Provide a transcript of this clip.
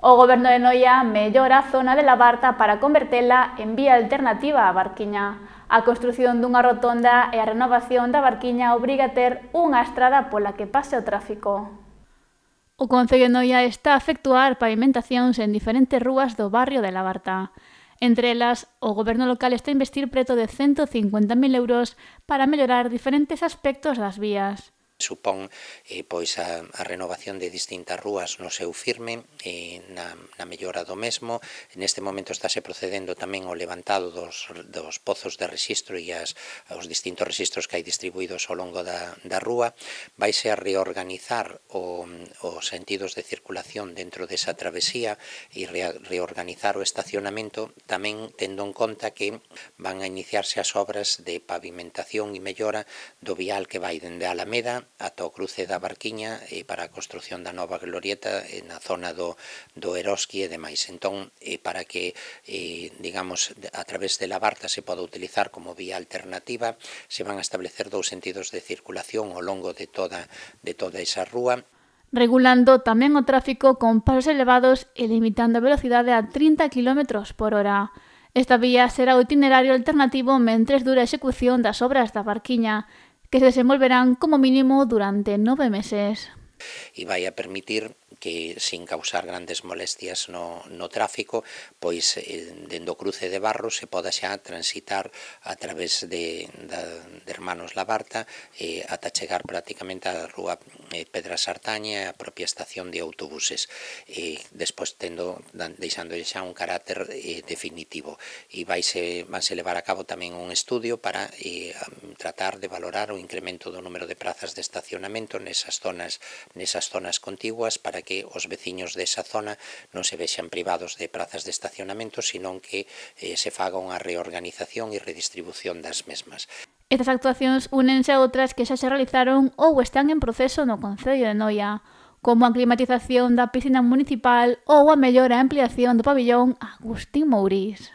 O Goberno de Noia mellora a zona de Labarta para convertela en vía alternativa á Barquiña. A construción dunha rotonda e a renovación da Barquiña obriga a ter unha estrada pola que pase o tráfico. O Concello de Noia está a efectuar pavimentacións en diferentes rúas do barrio de Labarta. Entre elas, o Goberno local está a investir preto de 150.000 euros para mellorar diferentes aspectos das vías. Supón pois a renovación de distintas rúas no seu firme, na mellora do mesmo. Neste momento estáse procedendo tamén ao levantado dos pozos de rexistro e os distintos rexistros que hai distribuídos ao longo da rúa. Vaise a reorganizar os sentidos de circulación dentro desa travesía e reorganizar o estacionamento, tamén tendo en conta que van a iniciarse as obras de pavimentación e mellora do vial que vai dende a Alameda ata o cruce da Barquiña para a construción da nova glorieta na zona do Eroski e demais. Entón, para que, digamos, a través de Labarta se poda utilizar como vía alternativa, se van a establecer dous sentidos de circulación ao longo de toda esa rúa, regulando tamén o tráfico con pasos elevados e limitando a velocidade a 30 km por hora. Esta vía será o itinerario alternativo mentres dura a execución das obras da Barquiña, que se desenvolverán como mínimo durante 9 meses. E vai a permitir que, sin causar grandes molestias no tráfico, pois dende o cruce de Barro se poda xa transitar a través de Hermanos Labarta ata chegar prácticamente á rúa Pedra Sartaña e a propia estación de autobuses, despois deixando xa un carácter definitivo. E vanse levar a cabo tamén un estudio para tratar de valorar o incremento do número de prazas de estacionamento nesas zonas contiguas, para que os veciños desa zona non se vexan privados de prazas de estacionamento, senón que se faga unha reorganización e redistribución das mesmas. Estas actuacións únense a outras que xa se realizaron ou están en proceso no Concello de Noia, como a climatización da piscina municipal ou a mellora e ampliación do pabillón Agustín Mouriz.